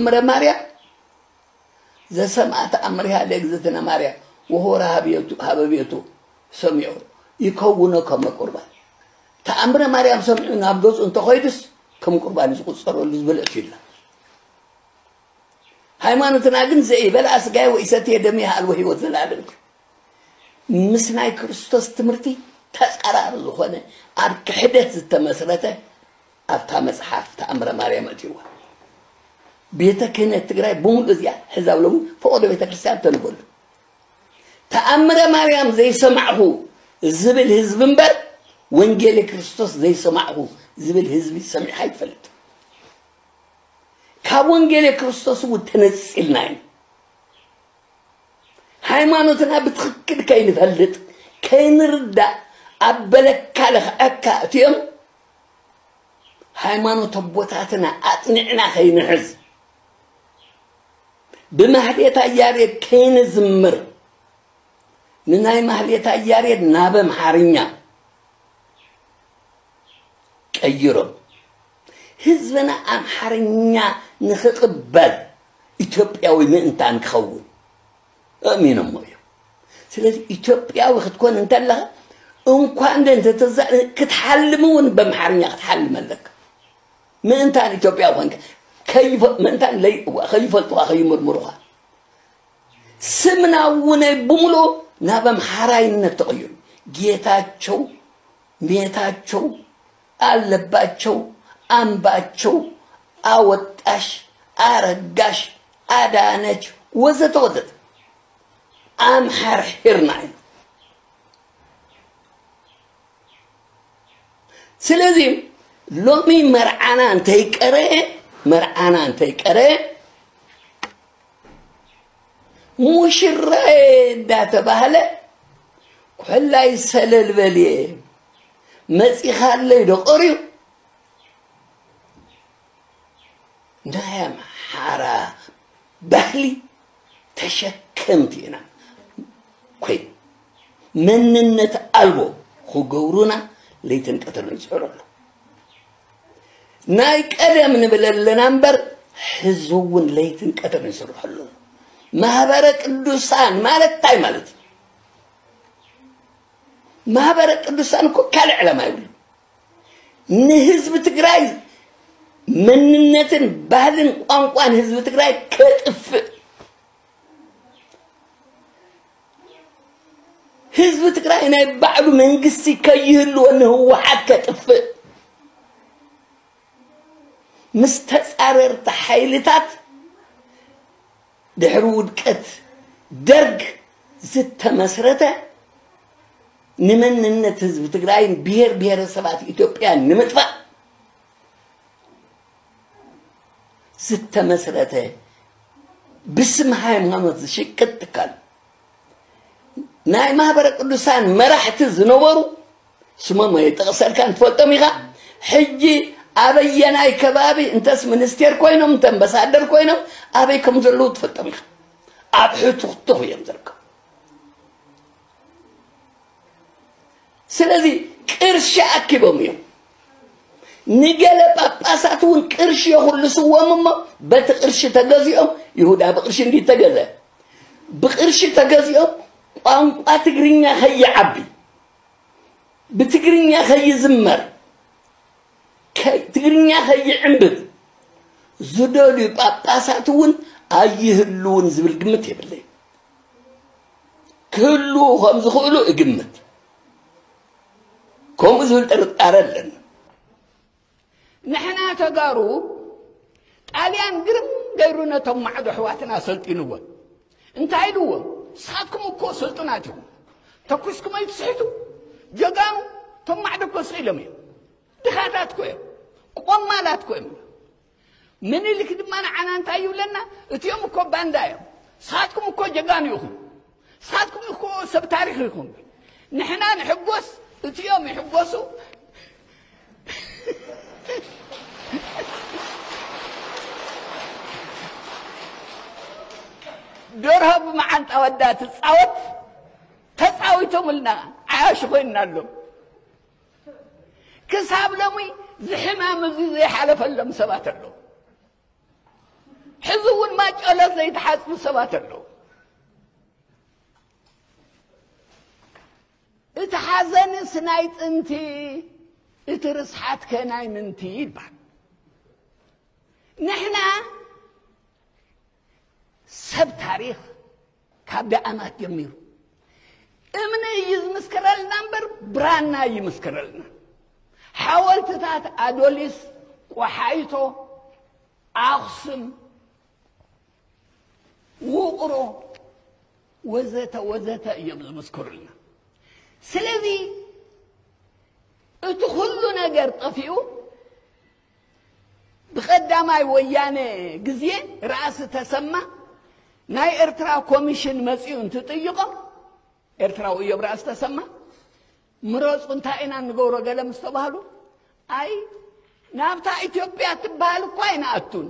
ተኣምረ ማርያም ዘሰምዓ ተኣምሪሃ ለእግዝእትነ ማርያም ወሆረ ሀበ ቤቱ ሰሚዑ ይከውኖ ከመ ቁርባን። ተኣምረ ማርያም ሰሚዑ ናብ ገጹ እንተኸይዱስ ከም ቁርባን እዩ ዝቑጸረሉ ዝብል እትዩላ። ሃይማኖትና ግን ዘይበልዓ ስጋየ ወኢሰትየ ደመየ ኣልቦ ህይወት ዘላለም እዩ። ምስ ናይ ክርስቶስ ትምህርቲ ተጻራሪ ዝኾነ ኣብ ክሕደት ዝተመስረተ ኣብታ መጽሓፍ ተኣምረ ማርያም እትይዋ። ቤተ ክህነት ትግራይ ብምሉእ እዚኣ ሕዛብ ሎሚ ፈቐዶ ቤተ ክርስቲያን ተንበሉ። ተኣምረ ማርያም ዘይሰማዕኹ ዝብል ህዝቢ እምበር ወንጌል ክርስቶስ ዘይሰማዕኹ ዝብል ህዝቢ ሰሚዕካ ይፈልጥ። ካብ ወንጌል ክርስቶስ እውን ተነጺልና እዩ። ሃይማኖትና ብትኽክል ከይንፈልጥ ከይንርዳእ ኣብ በለካ ለኽዐካ እትዮም ሃይማኖት ኣቦታትና ኣጽኒዕና ከይንሕዝ ብማህሌታ ያሬድ ከይንዝምር ንናይ ማህሌታ ያሬድ ናብ ኣምሓርኛ ቀይሮም ህዝብና ኣምሓርኛ ንኽቕበል ኢትዮጵያዊ ምእንታን ክኸውን ኣእሚኖሞ እዮም። ስለዚ ኢትዮጵያዊ ክትኮን እንተለኻ እንኳን ደ እንተተዛ ክትሓልም እውን በምሓርኛ ክትሓልም ኣለካ። ምእንታን ኢትዮጵያዊ ኮንካ ምእንታን ከይፈልጡኻ ከይምርምሩኻ ስምና እውን ብምሉኡ ናብ ኣምሓራይነት ተቐይሩ። ጌታቸው፣ ሜታቸው፣ ኣለባቸው፣ ኣምባቸው፣ ኣወጣሽ፣ ኣረጋሽ፣ ኣዳነች ወዘተ ወዘተ ኣምሓርሒርና ኢና። ስለዚ ሎሚ መርዓና እንተይቀረ መርዓና እንተይቀረ ሙሽራየ እንዳተባህለ ኩሕላይ ሰለል በልየ መጺኻለይ ዶ ቀርዩ ናይ ኣምሓራ ባህሊ ተሸከምቲ ኢና ኮይና መንነት ኣልቦ ክገብሩና ለይትን ቀትርን ይፅዕሩ ኣለዉ። ናይ ቀደም ንብል ኣለና እምበር ሕዚ እውን ለይትን ቀትርን ይስርሑ ኣለዉ። ማህበረ ቅዱሳን ማለት እንታይ ማለት እዩ? ማህበረ ቅዱሳን እኮ ካልእ ዕላማ ይብሉ። ንህዝቢ ትግራይ መንነትን ባህልን ቋንቋን ህዝቢ ትግራይ ከጥፍእ ህዝቢ ትግራይ ናይ ባዕሉ መንግስቲ ከይህልዎ ንህወሓት ከጥፍእ ምስ ተፃረርቲ ሓይልታት ድሕሪ ውድቀት ደርግ ዝተመስረተ ንመንነት ህዝቢ ትግራይን ብሄር ብሄረሰባት ኢትዮጵያን ንምጥፋእ ዝተመስረተ ብስም ሃይማኖት ዝሽቅጥ ትካል ናይ ማህበረ ቅዱሳን መራሕቲ ዝነበሩ ስሞም ኣይጠቕሰልካን ትፈልጦም ኢኻ። ሕጂ ኣበየናይ ከባቢ እንተስ ሚኒስቴር ኮይኖም እንተ ኣምባሳደር ኮይኖም ኣበይ ከም ዘለዉ ትፈልጦም ኢኻ። ኣብ ሕቱኽቱኽ እዮም ዝርከቡ። ስለዚ ቅርሺ ኣኪቦም እዮም። ንገለ ጳጳሳት እውን ቅርሺ የኹልስዎም እሞ በቲ ቅርሺ ተገዚኦም ይሁዳ ብቅርሺ እንዲ ተገዘ ብቅርሺ ተገዚኦም ቋንቋ ትግርኛ ከይዓቢ ብትግርኛ ከይዝመር ትግርኛ ከይዕንብብ ዝደልዩ ጳጳሳት እውን ኣይህልውን ዝብል ግምት የብለይ። ክህልዉ ከም ዝኽእሉ እግምት። ከምኡ ዝብል ጥርጣረ ኣለኒ። ንሕና ተጋሩ ጣልያን ግርም ገይሩ ነቶም ማዕዶ ኣሕዋትና ሰልጢንዎም። እንታይ ኢልዎም? ንስኻትኩም እኮ ስልጡናት ኢኹም። ተኩስኩም ኣይትስሕቱ። ጀጋኑ እቶም ማዕዶ እኮ ስቕ ኢሎም እዮም። ድኻታት እኮ እዮም። ቆማላት እኮ እዮም። ምኒልክ ድማ ንዓና እንታይ ይብለና? እቲኦም እኮ ባንዳ እዮም። ንስኻትኩም እኮ ጀጋኑ ኢኹም። ንስኻትኩም እኮ ሰብ ታሪኽ ኢኹም። ንሕና ንሕጎስ፣ እቲኦም ይሕጎሱ። ደርሆ ብመዓንጣ ወዳ ትጻወት ተጻዊቶምልና ዓያሹ ኮይንናሎም። ክሳብ ሎሚ ዝሕማም እዚ ዘይሓለፈሎም ሰባት ኣለዉ። ሕዚ እውን ማጨሎት ዘይተሓጽቡ ሰባት ኣለዉ። እቲ ሓዘንስ ናይ ጥንቲ፣ እቲ ርስሓትከ ናይ ምንቲ ይባል። ንሕና ሰብ ታሪኽ ካብ ደኣማት ጀሚሩ እምኒ እዩ ዝምስክረልና እምበር ብራና ይምስክረልና። ሓወልትታት ኣዶሊስ፣ ቆሓይቶ፣ ኣኽሱም፣ ውቕሮ፣ ወዘተ ወዘተ እዮም ዝምስክሩልና። ስለዚ እቲ ኩሉ ነገር ጠፊኡ፣ ብቐዳማይ ወያነ ግዜ ራእሲ ተሰማ ናይ ኤርትራ ኮሚሽን መጺኡ እንትጥይቖም፣ ኤርትራዊ እዮም ራእሲ ተሰማ፣ ምረጹ እንታይ ኢና ንገብሮ ገለ ምስ ተባህሉ፣ ኣይ ናብታ ኢትዮጵያ ትበሃል እኳ ኣይንኣቱን፣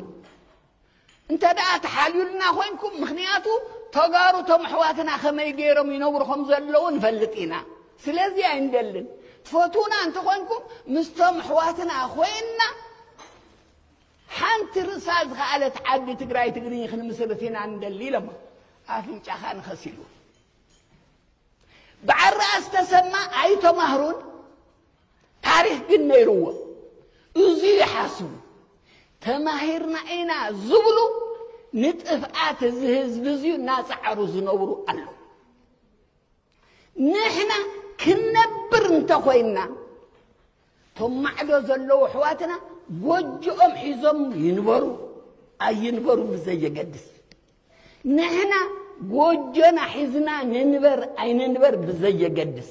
እንተ ደኣ ተሓልዩልና ኮይንኩም፣ ምኽንያቱ ተጋሩ ቶም ኣሕዋትና ከመይ ገይሮም ይነብሩ ከም ዘለዉ ንፈልጥ ኢና። ስለዚ ኣይንደልን። ትፈትዉና እንተኾይንኩም፣ ምስቶም ኣሕዋትና ኮይንና ሓንቲ ርእሳ ዝኸኣለት ዓዲ ትግራይ ትግርኝ ክንምስርት ኢና ንደሊ ኢሎሞ። ኣፍንጫኻ ንኸሲሉ። በዓል ራእሲ ተሰማ ኣይተማህሩን፣ ታሪኽ ግን ነይርዎም። እዚ ይሓስቡ። ተማሂርና ኢና ዝብሉ ንጥፍኣት እዚ ህዝቢ እዚዩ እናጸዓሩ ዝነብሩ ኣለዉ። ንሕና ክንነብር እንተኾይንና፣ እቶም ማዕዶ ዘለዉ ኣሕዋትና ጎጆኦም ሒዞም ይንበሩ ኣይንበሩ ብዘየገድስ፣ ንሕና ጎጆና ሒዝና ንንበር ኣይንንበር ብዘየገድስ፣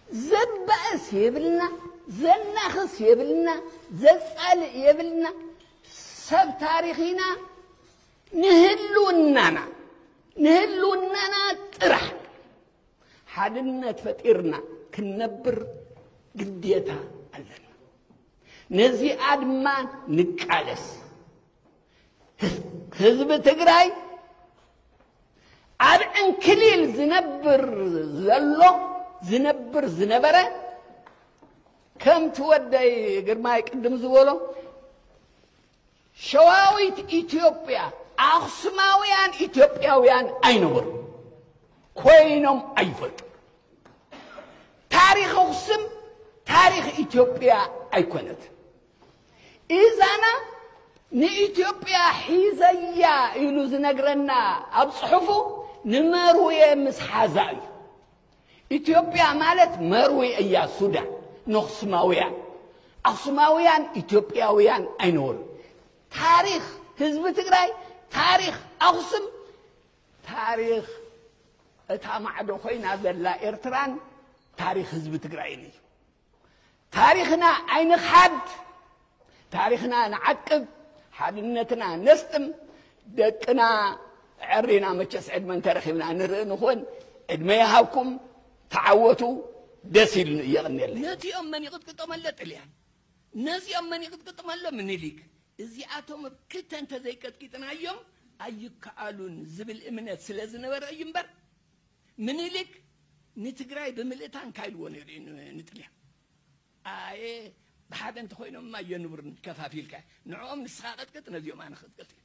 ዘባእስ የብልና፣ ዘናኽስ የብልና፣ ዘጻልእ የብልና። ሰብ ታሪኽ ኢና። ንህልውናና፣ ንህልውናና ጥራሕ ሓድነት ፈጢርና ክንነብር ግዴታ ኣለና። ነዚኣ ድማ ንቃለስ። ህዝቢ ትግራይ ኣብ ዕንክሊል ዝነብር ዘሎ፣ ዝነብር ዝነበረ፣ ከምቲ ወደይ ግርማይ ቅድም ዝበሎ፣ ሸዋዊት ኢትዮጵያ፣ ኣኽሱማውያን ኢትዮጵያውያን ኣይነበሩ፣ ኮይኖም ኣይፈልጡ። ታሪኽ ኣኽሱም ታሪኽ ኢትዮጵያ ኣይኮነት። ኢዛና ንኢትዮጵያ ሒዘያ ኢሉ ዝነግረና ኣብ ጽሑፉ ንመርዌ ምስ ሓዛ እዩ። ኢትዮጵያ ማለት መርዌ እያ፣ ሱዳን፣ ንኣኽሱማውያን። ኣኽሱማውያን ኢትዮጵያውያን ኣይነበሩን። ታሪኽ ህዝቢ ትግራይ፣ ታሪኽ ኣኽሱም፣ ታሪኽ እታ ማዕዶ ኮይና ዘላ ኤርትራን ታሪኽ ህዝቢ ትግራይን እዩ። ታሪኽና ኣይንኽሓድ፣ ታሪኽና ንዓቅብ፣ ሓድነትና ነስጥም፣ ደቅና ዕሪና መቸስ ዕድመ እንተረኺብና ንርኢ ንኾን። ዕድመ ይሃብኩም፣ ተዓወቱ፣ ደስ ኢሉኒ፣ የቐንየለይ። ነዚኦም መን ይቕጥቅጦም ኣሎ? ጥልያን። ነዚኦም መን ይቕጥቅጦም ኣሎ? ምኒልክ። እዚኣቶም ኣብ ክልተ እንተዘይቀጥቂጥናዮም ኣይከኣሉን ዝብል እምነት ስለ ዝነበረ እዩ እምበር፣ ምኒልክ ንትግራይ ብምልእታ እንታይ ኢልዎ ነይሩ እዩ ን-፣ ንጥልያን? ኣየ፣ ብሓደ እንተኾይኖምማ የንብሩን ከፋፊልካ። ንዕኦም ንስኻ ቀጥቅጥ፣ ነዚኦም ኣነ ክቅጥቅጥ እየ።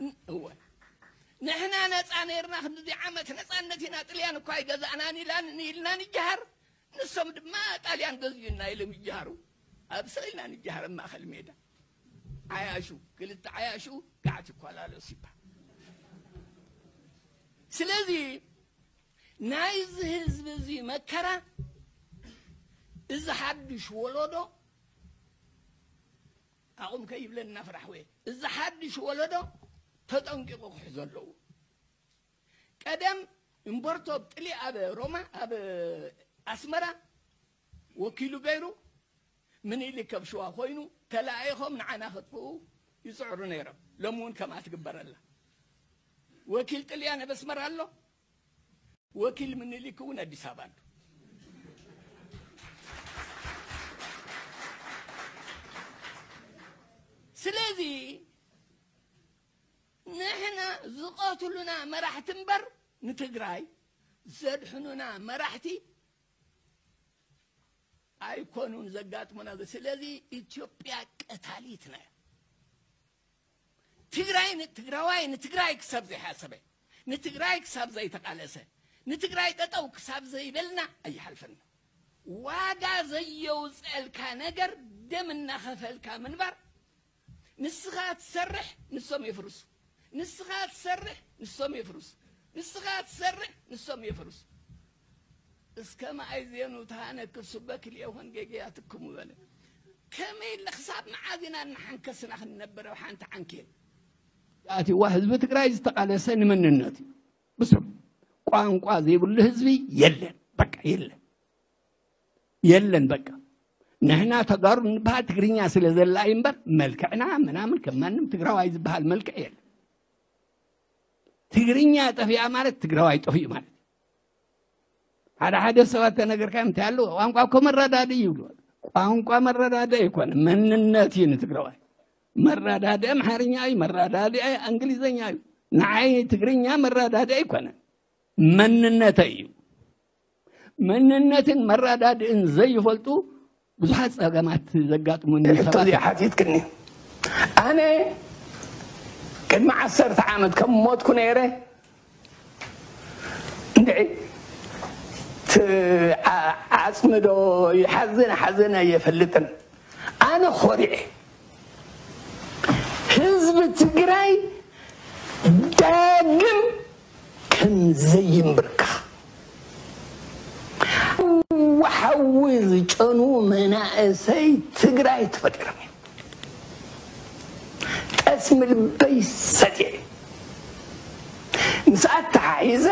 ን-፣ እወ። ንሕና ነፃ ነይርና፣ ክንድዚ ዓመት ነፃነት ኢና፣ ጥልያን እኳ ኣይገዛእናን ኢላን፣ ኢልና ንጀሃር። ንሶም ድማ ጣልያን ገዚኡና ኢሎም ይጀሃሩ። ኣብ ስቕ ኢልና ንጀሃር ኣብ ማእኸል ሜዳ። ዓያሹ፣ ክልተ ዓያሹ፣ ጋዕቲ ይኳላለሱ ይበሃል። ስለዚ ናይዚ ህዝቢ እዚ መከራ፣ እዚ ሓድሽ ወለዶ፣ ኣቑም ከይብለና ፍራሕ ወየ፣ እዚ ሓድሽ ወለዶ ተጠንቂቑ ክሕዞ ኣለዎ። ቀደም እምበርቶ ጥሊ ኣብ ሮማ፣ ኣብ ኣስመራ ወኪሉ ገይሩ፣ ምኒልክ ኣብ ሽዋ ኮይኑ ተለኣኢኾም ንዓና ከጥፍኡ ይጽዕሩ ነይሮም። ሎሚ እውን ከምኣ ትግበር ኣላ። ወኪል ጥልያን ኣብ ኣስመራ ኣሎ፣ ወኪል ምኒልክ እውን ኣዲስ ኣበባ ኣሎ። ስለዚ ንሕና ዝቐትሉና መራሕቲ እምበር ንትግራይ ዘድሕኑና መራሕቲ ኣይኮኑን ዘጋጥሙና። ስለዚ ኢትዮጵያ ቀታሊትና እያ። ትግራይ ን-፣ ትግራዋይ ንትግራይ ክሳብ ዘይሓሰበ፣ ንትግራይ ክሳብ ዘይተቃለሰ፣ ንትግራይ ጠጠው ክሳብ ዘይበልና ኣይሓልፈና። ዋጋ ዘየውፀልካ ነገር ደም እናኸፈልካ ምንባር። ንስኻ ትሰርሕ፣ ንሶም የፍርሱ። ንስኻ ትሰርሕ፣ ንሶም የፍርሱ። ንስኻ ትሰርሕ፣ ንሶም የፍርሱ። እስከ መኣይ ዜኑ ተሃነክ ሱበክ ሊኤኾን ጌጌያትክሙ በለ። ከመይ ኢለ ክሳብ መዓዝ ኢና እናሓንከስና ክንነብር ኣብ ሓንቲ ዓንኬል? ኣቲዋ ህዝቢ ትግራይ ዝተቓለሰ ንመንነቱ እዩ። ብስሩ ቋንቋ ዘይብሉ ህዝቢ የለን። በቃ የለን። የለን በቃ። ንሕና ተጋሩ እንበሃል ትግርኛ ስለ ዘላ እዩ እምበር፣ መልክዕና ምናምን ከም ማንም ትግራዋይ ዝበሃል መልክዕ የለን። ትግርኛ ጠፊኣ ማለት ትግራዋይ ጠፊኡ ማለት እዩ። ሓደ ሓደ ሰባት ተነገርካዮም እንታይ ኣለዎ? ቋንቋ እኮ መረዳድኢ ይብሉ። ቋንቋ መረዳድኢ ኣይኮነ፣ መንነት እዩ ንትግራዋይ። መረዳድኢ ኣምሓርኛ እዩ፣ መረዳድኢ እንግሊዘኛ እዩ። ንዓይ ትግርኛ መረዳድኢ ኣይኮነን፣ መንነተይ እዩ። መንነትን መረዳድእን ዘይፈልጡ ብዙሓት ጸገማት ዘጋጥሙኒ ሕቶ ሰባት እዚኣ ሓቲትክኒ። ኣነ ቅድሚ ዓሰርተ ዓመት ከም ሞትኩ ነይረ፣ እንድዒ፣ ት-፣ ዓ-፣ ዓጽሚ ዶ ይሓዝን ሓዘን ኣየፈልጥን። ኣነ ኾሪዐ። ህዝቢ ትግራይ ዳግም ከም ዘይንብርካ። ሓዊ ዝጨኑ መናእሰይ ትግራይ ተፈጢሮም እዮም። ጠስሚ ልበይ ሰትየ። ምስ ኣተሓሒዘ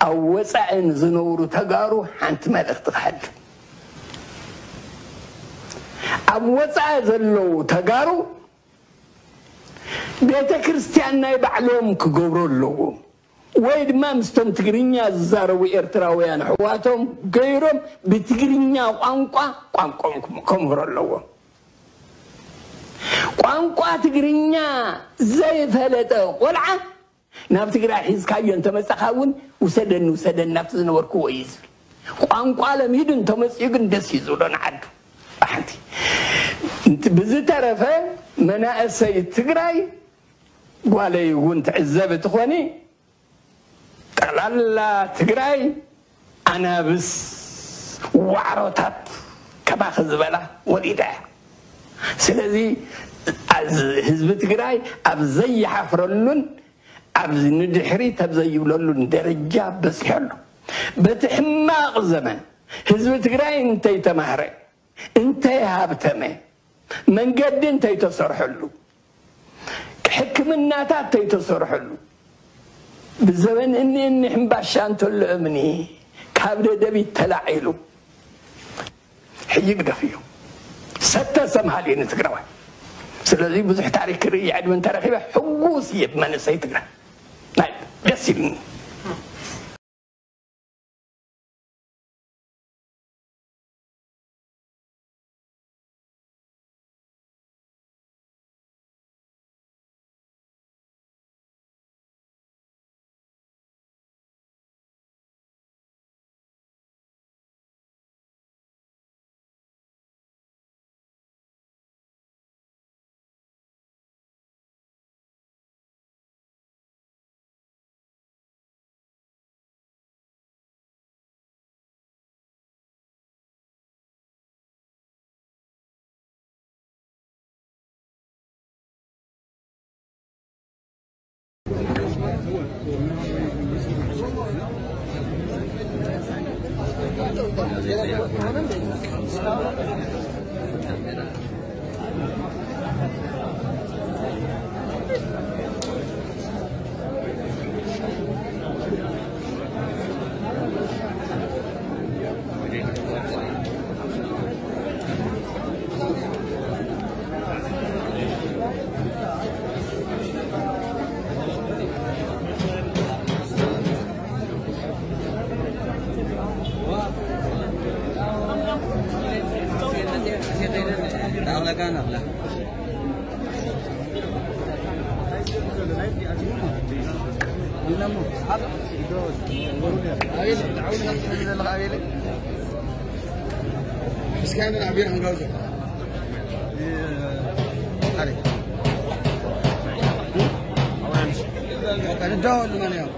ኣብ ወፃኢ ንዝነብሩ ተጋሩ ሓንቲ መልእኽቲ ክሓልፍ። ኣብ ወፃኢ ዘለዉ ተጋሩ ቤተ ክርስቲያን ናይ ባዕሎም ክገብሩ ኣለዎም፣ ወይ ድማ ምስቶም ትግርኛ ዝዛረቡ ኤርትራውያን ኣሕዋቶም ገይሮም ብትግርኛ ቋንቋ ቋንቋኦም ክም-፣ ከምህሩ ኣለዎም። ቋንቋ ትግርኛ ዘይፈለጠ ቆልዓ ናብ ትግራይ ሒዝካዮ እንተመጻኻ እውን ውሰደኒ ውሰደኒ ናብቲ ዝነበርክዎ እዩ ዝብል። ቋንቋ ለሚዱ እንተመጺኡ ግን ደስ እዩ ዝብሎ ንዓዱ። ሓንቲ። እንት-፣ ብዝተረፈ መናእሰይ ትግራይ ጓለይ እውን ትዕዘቢ ትኾኒ፣ ጠቕላላ ትግራይ ኣናብስ ዋዕሮታት ከማኺ ዝበላ ወሊዳ እያ። ስለዚ ኣዝ-፣ ህዝቢ ትግራይ ኣብ ዘይሓፍረሉን ኣብ ንድሕሪት ኣብ ዘይብለሉን ደረጃ በፂሑ ኣሎ። በቲ ሕማቕ ዘመን ህዝቢ ትግራይ እንተይተማህረ፣ እንተይሃብተመ፣ መንገዲ እንተይተሰርሐሉ፣ ሕክምናታት እንተይተሰርሐሉ፣ ብዘበን እኒ እኒ ሕምባሻ እንተሎ እምኒ ካብ ደደቢት ተላዒሉ ሕጂ ግደፍዮ። ሰተ ሰምሃል እዩ ንትግራዋይ። ስለዚ ብዙሕ ታሪክ ክርኢ ዕድመ እንተረኺበ ሕጉስ እየ ብመንእሰይ ትግራይ። ናይ ደስ ኢሉኒ። እስኪ አንድ አቢር አንጋውዘ አሪ ወቀን ዳው ለማን ያው